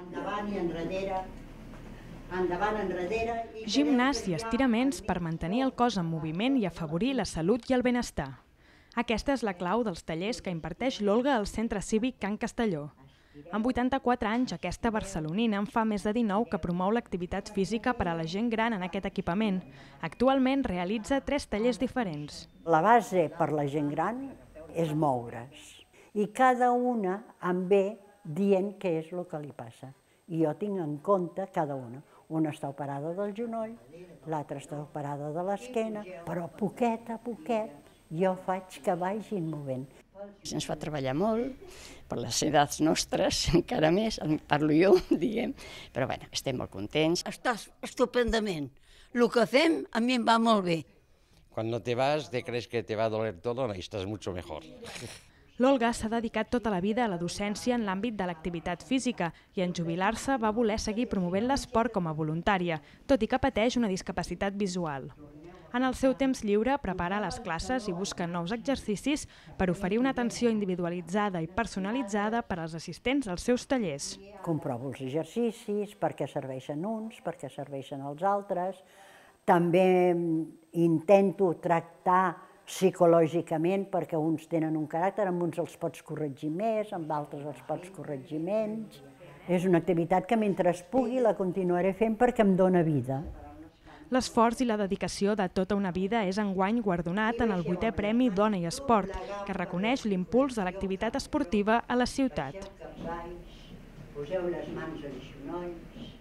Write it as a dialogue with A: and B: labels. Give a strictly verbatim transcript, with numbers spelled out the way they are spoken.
A: Endavant i enrere, endavant, enrere...
B: Gimnàs i estiraments per mantenir el cos en moviment i afavorir la salut i el benestar. Aquesta és la clau dels tallers que imparteix l'Olga al Centre Cívic Can Castelló. Amb vuitanta-quatre anys, aquesta barcelonina en fa més de dinou que promou l'activitat física per a la gent gran en aquest equipament. Actualment realitza tres tallers diferents.
A: La base per la gent gran és moure's i cada una em ve dient què és el que li passa. I jo tinc en compte cada una. Una està operada del genoll, l'altra està operada de l'esquena, però poquet a poquet jo faig que vagin movent.
C: Ens fa treballar molt, per les edats nostres, encara més, parlo jo, diguem, però bueno, estem molt contents.
D: Estàs estupendament. El que fem a mi em va molt bé.
E: Cuando te vas, te crees que te va a doler todo, no, y estás mucho mejor.
B: L'Olga s'ha dedicat tota la vida a la docència en l'àmbit de l'activitat física i en jubilar-se va voler seguir promovent l'esport com a voluntària, tot i que pateix una discapacitat visual. En el seu temps lliure prepara les classes i busca nous exercicis per oferir una atenció individualitzada i personalitzada per als assistents als seus tallers.
A: Comprovo els exercicis, per què serveixen uns, per què serveixen els altres. També intento tractar psicològicament perquè uns tenen un caràcter, amb uns els pots corregir més, amb d'altres els pots corregir menys. És una activitat que mentre es pugui la continuaré fent perquè em dóna vida.
B: L'esforç i la dedicació de tota una vida és enguany guardonat en el vuitè Premi Dona i Esport, que reconeix l'impuls de l'activitat esportiva a la ciutat.
A: Poseu les mans als genolls.